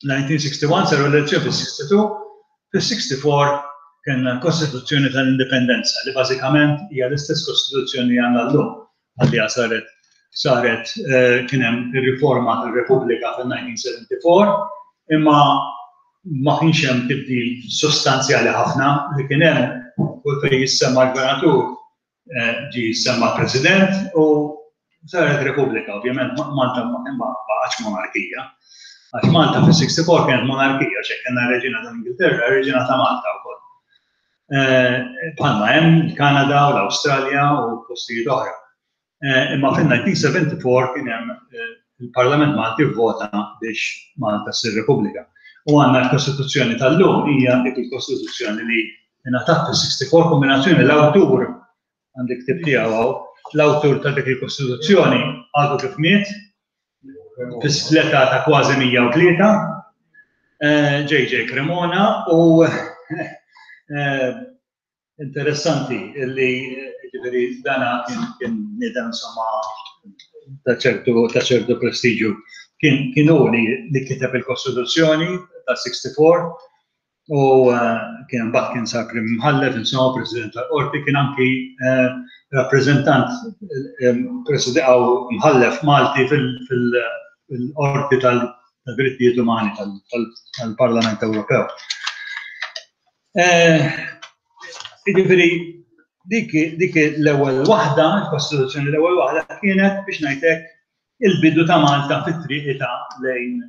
elf disa' mija u wieħed u sittin saru elezzjoni fil-sitta u sittin, fil-sitta u sittin kellna l-Kostituzzjoni tal-Indipendenza li bażikament hija l-istess Kostituzzjoni li għandna llum, għalli saret saret kien hemm ir-riforma tal-Repubblika fil-elf disa' mija u erbgħa u sebgħin, imma ma kienx hemm tibdil sostanzjali ħafna. Li kien hemm, kull fejn jissemma l-gvernatur ġi jissemma president u Saret Repubblika, ovvjament Malta ma baqgħetx monarkija. Għax Malta fis-sixty-four kienet monarkija, ċe kellna reġina tal-Ingilterra, reġina ta' Malta wkoll. Bħalma hemm il-Kanada u l-Awstralja u postijiet oħra. Imma fin-nineteen seventy-four kien hemm il-Parlament Malti vvota biex Malta ssir Repubblika. U għandna l-Kostituzzjoni tal-lum hija dik il-Kostituzzjoni li ingħatat fis-sixty-four kombinazzjoni l-awtur għandek ktib tiegħu hawn, l-awtur ta' dik il-Kostituzzjoni għadu kif miet fis-sleta ta' kważi mija u tlieta, J J Cremona, u interessanti li ġifieri dana kien, kien bniedem insomma ta' ċertu, ta' ċertu prestiġju. Kien, kien hu li, li kiteb il-Kostituzzjoni ta' sixty-four u, eh, kien mbagħad kien sar prim imħallef, insomma president tal-qorti, kien anki, eh, rappreżentant, eh, president għaw mħallef Malti fil-, fil-, fil-qorti tal-drittijiet umani tal-, tal-, tal-Parlament Ewropew. Eh, jiġifieri dik, dik l-ewwel waħda, il-Kostituzzjoni l-ewwel waħda kienet biex ngħidlek il-bidu ta' Malta fit-triq ta' lejn,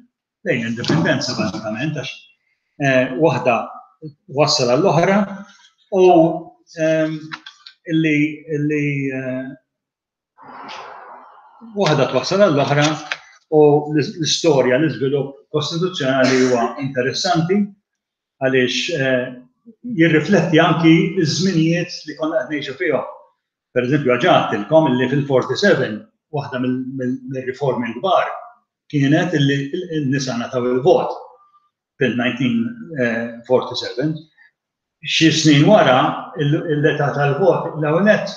lejn l-indipendenza bażikament, għax, eh, waħda wassal għall-oħra u, ehm, illi, illi, eh, waħda twassal għall-oħra u l-istorja, l-iżvilupp kostituzzjonali huwa interessanti għaliex, eh, jirrifletti anki ż-żminijiet li konna qed ngħixu fihom. Per eżempju, għaġatilkom illi fil-forty-seven waħda mill-, mill-, mill-riformi l-kbar kienet illi n-nisa ngħataw il-vot fil-nineteen forty-seven. Xi snin wara l-età tal-vot l-ewwel nett,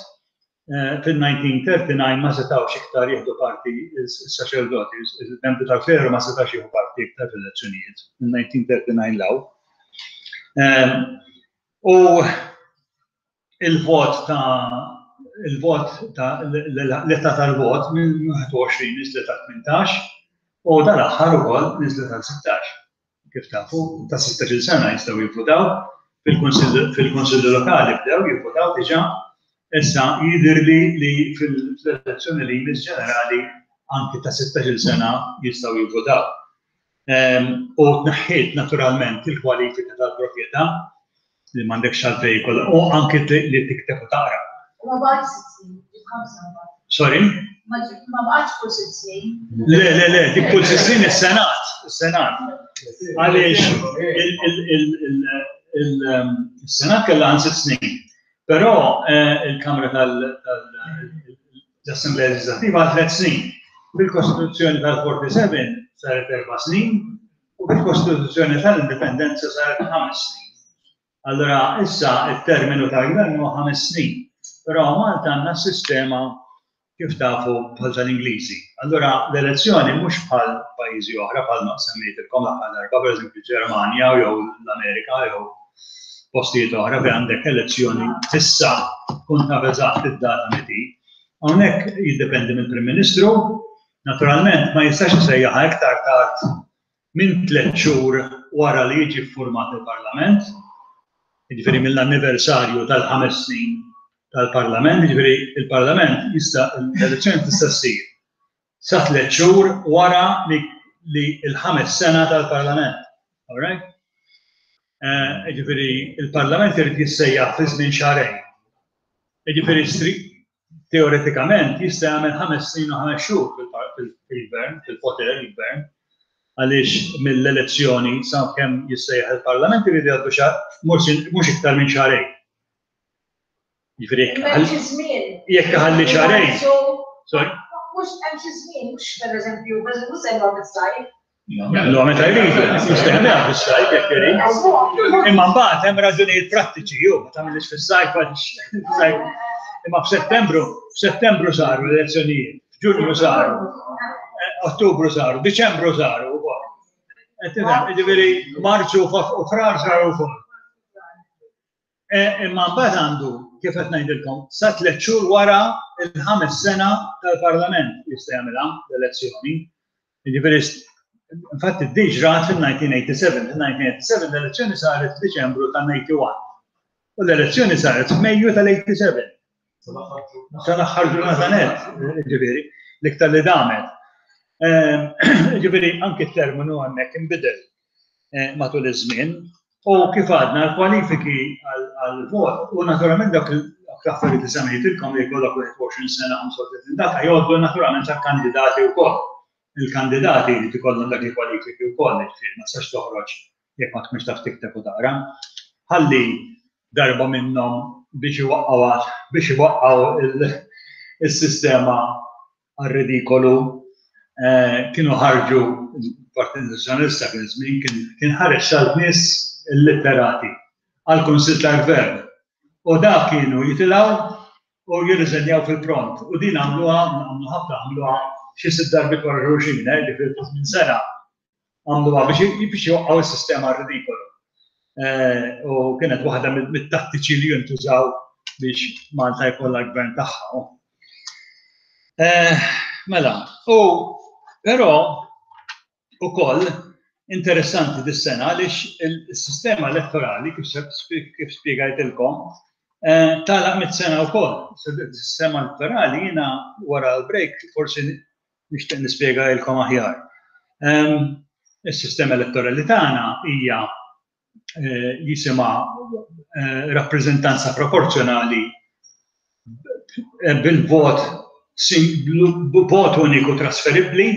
eh, fil-nineteen thirty-nine ma setgħux iktar jieħdu parti s-saċerdoti, il-membri tal-kleru ma setgħux jieħdu parti iktar fil-elezzjonijiet fil-nineteen thirty-nine law. Ehm, u il-vot ta' il-vot ta' l-età tal-vot minn wieħed u għoxrin niżlet għal tmintax u dal-aħħar ukoll niżlet għal sittax. Kif tafu, ta' sittax-il sena jistgħu jivvutaw, fil-Kunsill, fil-Kunsilli Lokali bdew jivvutaw diġà, issa jidhirli li fil-elezzjoni li jmiss ġenerali anki ta' sittax-il sena jistgħu jivvutaw. Ehm, u tneħħiet naturalment il-kwalifika tal-proprjetà li m'għandekx għalfejn jkollha, u anki li tikteb u taqra. Ma baqgħetx sitt snin, ġiet ħamsa mbagħad. Sorry? Ma ġi-, ma baqgħetx kull sitt snin. Le, le, le, dik kull sitt snin is-Senat, is-Senat. Għaliex il-, il-, il-, il-, il-, il-Senat kellha għan sitt snin, però, eh, il-Kamra tal-, tal-Assemblea Legislativa għal tliet snin. Bil-Kostituzzjoni tal-forty-seven saret erba' snin u bil-Kostituzzjoni tal-Indipendenza saret ħames snin. Allora issa il-terminu tal-gvern huwa ħames snin, però Malta għandna sistema kif tafu bħal tal-Ingliżi. Allora l-elezzjoni mhux bħal pajjiżi oħra bħal ma semmejtilkom l-aħħar darba, pereżempju Ġermanja jew l-Amerika jew postijiet oħra fejn għandek elezzjoni fissa tkun taf eżatt id-data meti. Hawnhekk jiddependi mill-Prim Ministru, naturalment ma jistax isejjaħha iktar tard minn tliet xhur wara li jiġi ffurmat il-Parlament, jiġifieri mill-anniversarju tal-ħames snin tal-Parlament, jiġifieri il-Parlament jista' l-elezzjoni tista' ssir sa tliet xhur wara li, li l-ħames sena tal-Parlament. All right? Eh, jiġifieri il-Parlament irid jissejjaħ fi żmien xahrejn. Jiġifieri stri-, teoretikament jista' jagħmel ħames snin u ħames xhur fil-par-, fil-, fil-gvern, fil-poter il-gvern, għaliex mill-elezzjoni sa kemm jissejjaħ il-Parlament irid jgħaddu xahar, mhux, mhux iktar minn xahrejn. Jiġifieri jekk Imma ħalli xi żmien. jekk ħalli xahrejn. So, Sorry? Mhux hemm xi żmien, mhux pereżempju, mhux se jgħod is-sajf. Jagħmlu meta jridu, jista' jagħmluha fis-sajf jekk irid. Imma mbagħad hemm raġunijiet prattiċi, jew ma tagħmilx fis-sajf għaliex fis-sajf. Imma f'Settembru, f'Settembru saru l-elezzjonijiet, f'Ġunju saru, eh, Ottubru saru, Diċembru saru wkoll. Qed tifhem, jiġifieri Marzu u Frar saru wkoll. Eh, imma mbagħad għandu, kif qed ngħidilkom, sa tliet xhur wara l-ħames sena tal-Parlament jista' jagħmilha l-elezzjoni. Jiġifieri infatti d-diġ rat fil-nineteen eighty-seven. Fil-nineteen eighty-seven l-elezzjoni saret f'Diċembru tan-ninety-one. U l-elezzjoni saret f'Mejju tal-eighty-seven. Sal-aħħar ġurnata net, ġifieri. l-iktar li damet. Ġifieri anki t-terminu hemmhekk inbidel matul iż-żmien. U kif għadna l-kwalifiki għal-vot, u naturalment dak l-affarijiet li semmejtilkom li jkollok wieħed u għoxrin sena, ħamsa u tletin data jgħoddu naturalment għall-kandidati wkoll. Il-kandidati li ikollhom dak il-kwalifiki wkoll, ġifieri ma tistax toħroġ jekk ma tkunx taf tikteb u taqra. Ħalli darba minnhom biex iwaqqgħu biex iwaqqgħu il-sistema għar-ridikolu kienu ħarġu il-Partit Nazzjonalista kien żmien kien ħareġ sal-nies illitterati għall-Kunsill tal-Gvern. U dak kienu jitilgħu u jirriżenjaw fil-pront. U din għamluha, għamlu ħafna, għamluha xi sitt darbiet wara xulxin, ġifieri fi żmien sena għamluha biex biex joqqgħu s-sistema ridikolu. U kienet waħda mit-tattiċi li jintużaw biex Malta jkollha l-gvern tagħha. Mela, u però ukoll interessanti dis-sena għaliex il-sistema elettorali kif spjegajtilkom tagħlaq mitt sena wkoll. Is-sistema elettorali jiena wara l-break forsi nixtieq nispjegalkom aħjar. Is-sistema elettorali tagħna hija jisimha rappreżentanza proporzjonali bil-vot vot uniku trasferibbli,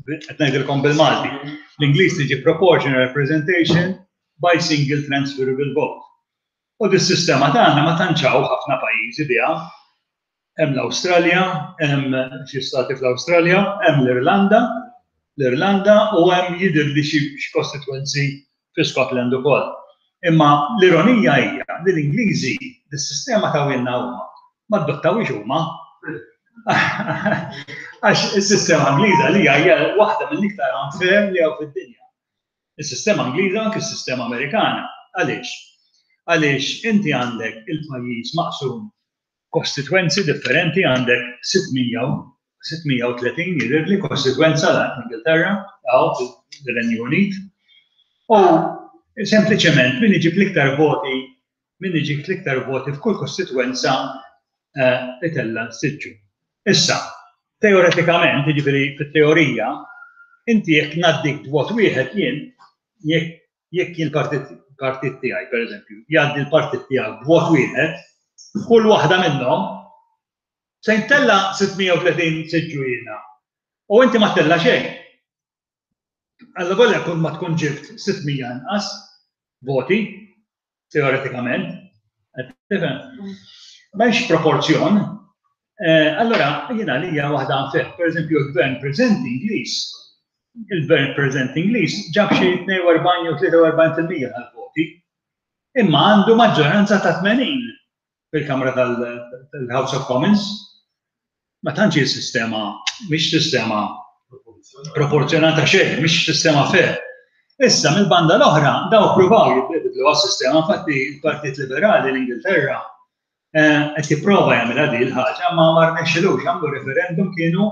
qed ngħidilkom bil-Malti. L-Ingliż tiġi proportional representation by single transferable vote. U dis-sistema tagħna ma tantx hawn ħafna pajjiżi biha. Hemm l-Awstralja, hemm xi stati fl-Awstralja, hemm l-Irlanda, l-Irlanda u hemm jidher li xi kostitwenzi fi Scotland ukoll. Imma l-ironija hija li l-Ingliżi dis-sistema tawhielna huma, ma adottawhiex huma. Għax is-sistema Ingliża li hija waħda mill-iktar unfair li hawn fid-dinja. Is-sistema Ingliża, anke s-sistema Amerikana. Għaliex? Għaliex inti għandek il-pajjiż maqsum kostitwenzi differenti, għandek sitt mija u tletin jidhirli kostitwenza l-Ingilterra, għaw l-Renju Unit. U sempliċement min iġib l-iktar voti, min iġib l-iktar voti f'kull kostitwenza itella siġġu. Issa, teoretikament, jiġifieri fit-teorija, inti jekk ngħaddik b'vot wieħed jien, jekk jien partit partit tiegħi, per eżempju, jgħaddi l-partit tiegħek b'vot wieħed, kull waħda minnhom se ntella' sitt mija u tletin siġġu jiena. U inti ma tella' xejn. Alla volja kun ma tkun ġibt sitt mija inqas voti, teoretikament, tifhem? M'hemmx proporzjon. Allora, jiena li hija waħda unfair. Per eżempju, il-gvern preżenti Ingliż, il-gvern preżenti Ingliż ġab xi tnejn u erbgħin jew tlieta u erbgħin fil-mija tal-voti, imma għandu maġġoranza ta' tmenin fil-Kamra tal-House of Commons. Ma tantx hi sistema, mhix sistema proporzjonata xejn, mhix sistema fair. Issa, mill-banda l-oħra, daw pruvaw jibdlu għas-sistema, infatti il-Partit Liberali l-Ingilterra qed jipprova jagħmilha din il-ħaġa, ma ma rnexxilux. Għamlu referendum kienu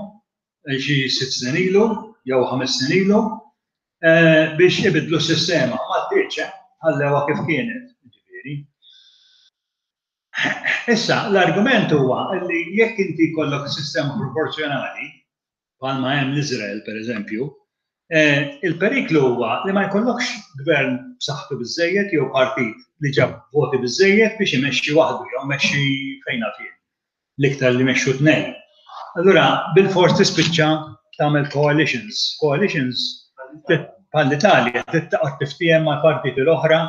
xi sitt snin ilu jew ħames snin ilu biex ibidlu s-sistema. Ma ddiċ, ħallewha kif kienet, ġifieri. Issa, l-argument huwa li jekk inti jkollok sistema proporzjonali, bħalma hemm l-Iżrael per eżempju, il-periklu huwa li ma jkollokx gvern b'saħħtu biżejjed jew partit li ġab voti biżejjed biex imexxi waħdu jew imexxi fejn fien. L-iktar li mexxu tnejn. Allura, bil-fors tispiċċa tagħmel coalitions. Coalitions bħall-Italja, taqgħod tiftiehem mal-partiti l-oħra.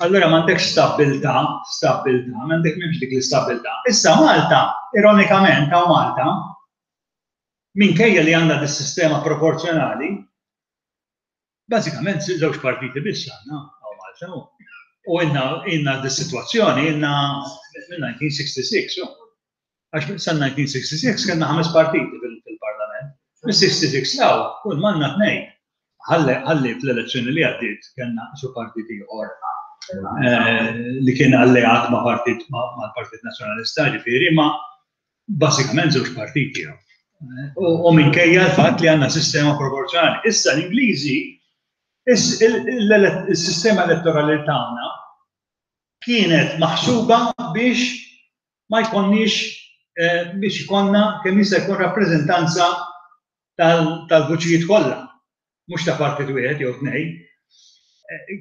Allura m'għandekx stabbiltà, stabbiltà, m'għandek m'hemmx dik l-istabbiltà. Issa Malta, ironikament, hawn Malta, minkejja li għandna dis-sistema proporzjonali, bażikament żewġ partiti biss għandna hawn Malta. U inna inna dis-sitwazzjoni inna minn elf disa' mija u sitta u sittin. Għax sa elf disa' mija u sitta u sittin kellna ħames partiti fil-parlament. Mis-sitta u sittin law, kull manna tnejn. Ħalli fl-elezzjoni li għaddiet kellna su partit ieħor li kien alleat ma' partit mal-Partit Nazzjonalista, ġifieri, ma bażikament żewġ partiti. U minkejja l-fatt li għandna sistema proporzjonali. Issa l-Ingliżi, il-sistema elettorali tagħna kienet maħsuba biex ma jkollniex biex ikollna kemm jista' jkun rappreżentanza tal-vuċijiet kollha, mhux ta' partit wieħed jew tnejn.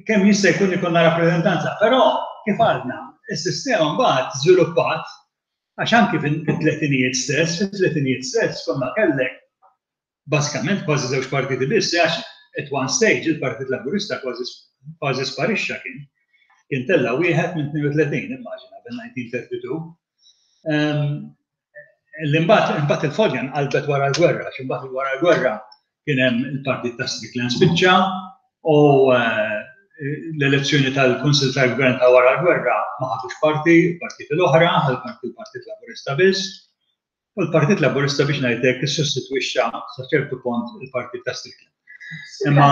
Kemm jista' jkun ikollna rappreżentanza, però kif għadna, is-sistema mbagħad żviluppat għax anki fit-tletinijiet stess, fit-tletinijiet stess konna kellek bażikament kważi żewġ partiti biss, għax at one stage il-Partit Laburista kważi kważi sparixxa kien. Kien tella wieħed minn tnejn u tletin, immaġina, bil-nineteen thirty-two. L-imbagħad imbagħad il-folja nqalbet wara l-gwerra, għax imbagħad wara l-gwerra kien hemm il-Partit ta' Strickland spiċċa u l-elezzjoni tal-Kunsill tal-Gvern ta' wara l-gwerra ma ħadux parti, il-partiti l-oħra, ħal parti l-Partit Laburista biss. U l-Partit Laburista biex ngħidlek issostitwixxa sa ċertu punt il-Partit ta' Strickland. Imma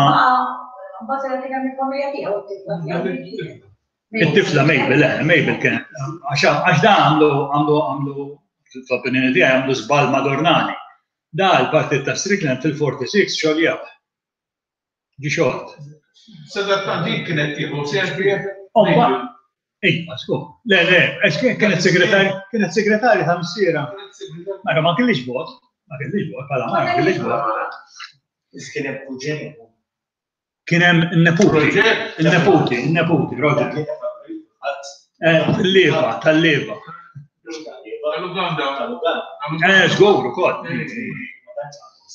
it-tifla Mabel, eh, Mabel kien, għax da għamlu, għamlu, għamlu, fl-opinjoni tiegħi għamlu żball madornali. Da l-Partit ta' Strickland fil-forty-six xogħol Ġi xolt. Sadattant din kienet tieħu servi. Ejja, sku. Le, le, kienet segretarja, kienet segretarja ta' missiera. Mara ma kellix vot, ma kellix vot, bħala ma kellix vot. Kien hemm kuġin. Kien hemm in-neputi, in-neputi, in-neputi, Roger. Tal-leva, tal-leva. Tal-Uganda. Eh, żgur ukoll.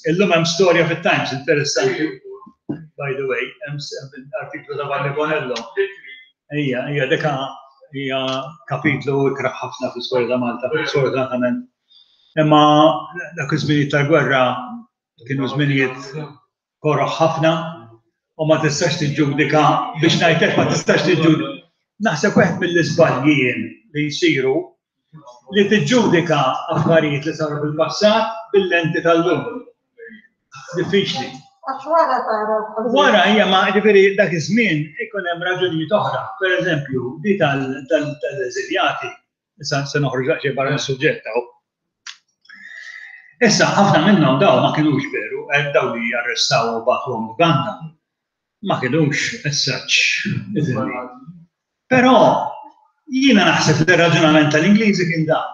Illum hemm storja fit-Times interessanti. By the way, hemm artiklu ta' Vanni Bonello. Ejja, ejja, deka hija kapitlu ikraħ ħafna fl-istorja ta' Malta, sfortunatament. Imma dak iż-żminijiet tal-gwerra kienu żminijiet koroħ ħafna u ma tistax tiġġudika, biex ngħidlek ma tistax tiġġudika. Naħseb wieħed mill-iżbalji jien li jsiru li tiġġudika affarijiet li saru fil-passat bil-lenti tal-lum. Diffiċli. Għax wara tara l-ħażin. Wara hija ma ġifieri dak iż-żmien ikun hemm raġunijiet oħra. Pereżempju, di tal-eżiljati, issa se noħroġ daqsxejn barra mis-suġġett hawn. Issa ħafna minnhom daw ma kinux veru, daw li arrestaw u bagħtuhom Uganda, ma kinux as-such. Però jiena naħseb li r-raġunament tal-Ingliżi kien dan,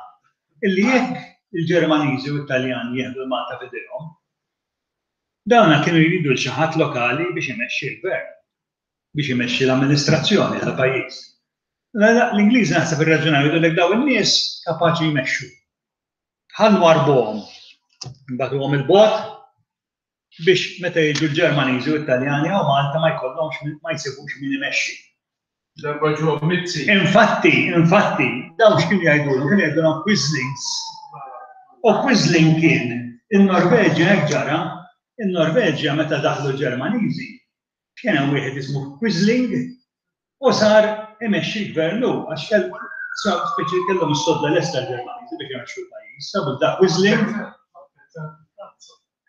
illi jekk il-Ġermaniżi u t-Taljani jieħdu l-Malta f'idejhom, dawna kienu jridu l xi ħadd lokali biex imexxi l-gvern, biex imexxi l-amministrazzjoni tal-pajjiż. L-Ingliżi naħseb ir-raġunament jgħidu daw in-nies kapaċi jmexxu. Ħa nwarbuhom, nbagħtuhom il-bogħod biex meta jiġu l-Ġermaniżi u t-Taljani hawn Malta ma jkollhomx ma jsibux min imexxi. Darba ġew Mizzi. Infatti, infatti, dawn x'kienu jgħidulhom? Kienu jgħidulhom Quislings. U Quisling kien in-Norveġja hekk ġara, in-Norveġja meta daħlu l-Ġermaniżi, kien hemm wieħed ismu Quisling u sar imexxi l-gvern hu, għax speċi kellhom is-sodda lesta l-Ġermaniżi biex imexxu l-pajjiż, sabu da Quisling.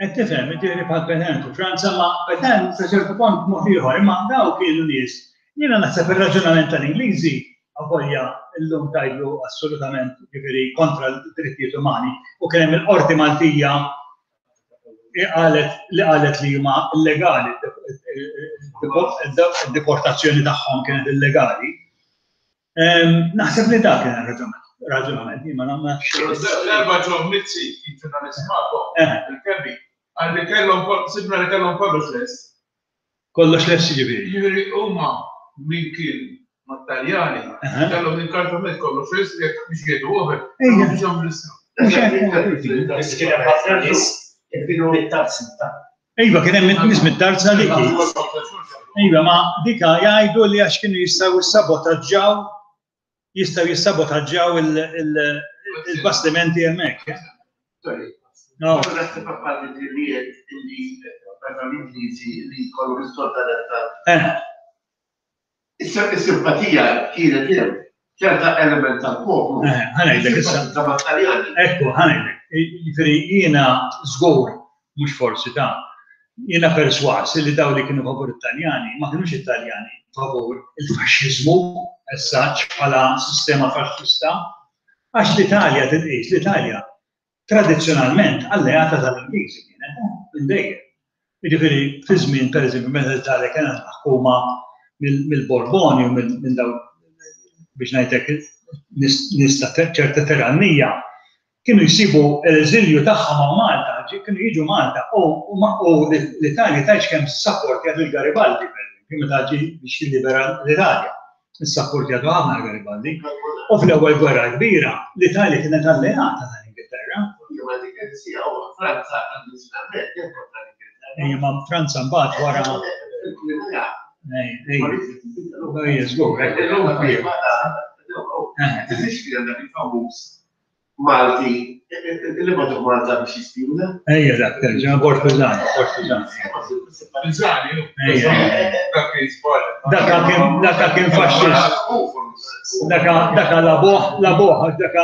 Qed tifhem, jiġifieri bħal Petain u Franza, ma Petain sa ċertu punt mod ieħor, imma daw kienu nies. Jiena naħseb ir-raġunament tal-Ingliżi avolja llum tgħidlu assolutament jiġifieri kontra l-drittijiet umani u kien hemm il-Qorti Maltija qalet li qalet li huma illegali, id-deportazzjoni tagħhom kienet illegali. Naħseb li dak kien ir-raġunament, raġunament, jien ma nafx. L-erba' ġew Mizzi kien ġurnalist magħkom, il-Kebbi, qal li kellhom sibna li kellhom kollox lest. Kollox lest jiġifieri. Jiġifieri huma min kien mat-Taljani, kellhom l-inkartament kollox lest jekk biex jgħidu oħra, kellhom biex jagħmlu l-istess. Kien hemm ħafna nies kienu mit-tarzna. Iva, kien hemm nies mit-tarzna dik. Iva, ma dika jgħidu li għax kienu jistgħu jissabotaġġaw, jistgħu jissabotaġġaw il-bastimenti hemmhekk. No. Is-simpatija kienet hemm ċerta element tal-poplu. Ħa ngħidlek issa. Ekku, ħa ngħidlek. Jiġifieri jiena żgur, mhux forsi ta' jiena perswas li daw li kienu favur Italjani ma kinux Italjani favur il-faxxiżmu as such bħala sistema faxxista, għax l-Italja titqis, l-Italja tradizzjonalment alleata tal-Ingliżi kienet, minn dejjem. Jiġifieri fi żmien pereżempju meta l-Italja kienet maħkuma mill-Borboni u minn daw biex ngħidlek nies ta' ċerta tirannija, Kienu jsibu l-eżilju tagħha ma' Malta, kienu jiġu Malta u l-Italja tgħidx kemm sapportjat lil Garibaldi, pereżempju, meta ġie biex jillibera l-Italja. Issapportjatu ħafna Garibaldi. U fl-ewwel gwerra kbira, l-Italja kienet alleata tal-Ingilterra. Ejja, ma Franza mbagħad wara. Ejja, żgur. Malti, li ma Malta biex jispjuna? Ejja, dak terġa', Bord Pisani, Bord Pisani. Pisani, dak kien Daka kien faxxist. Daka labuħ, labuħ, daka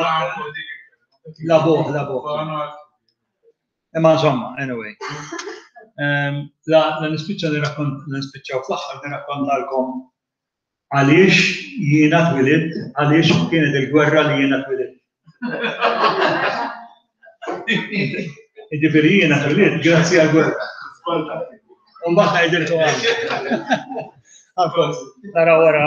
labuħ, labuħ. Imma insomma, anyway. La nispiċċa nispiċċaw fl-aħħar nirrakkontalkom għaliex jiena twilidt, għaliex kienet il-gwerra li jiena twilidt. Jiġifieri jiena twilidt grazzi għall-gwerra. U mbagħad ngħidilkom għal. Nara wara.